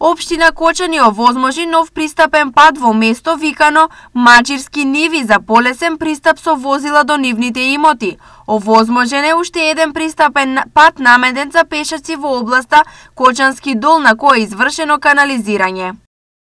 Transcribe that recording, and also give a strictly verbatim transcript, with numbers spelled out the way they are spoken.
Општина Кочани овозможи нов пристапен пат во место викано Мачирски ниви за полесен пристап со возила до нивните имоти. Овозможен е уште еден пристапен пат наменет за пешаци во областа Кочански дол на кој е извршено канализирање.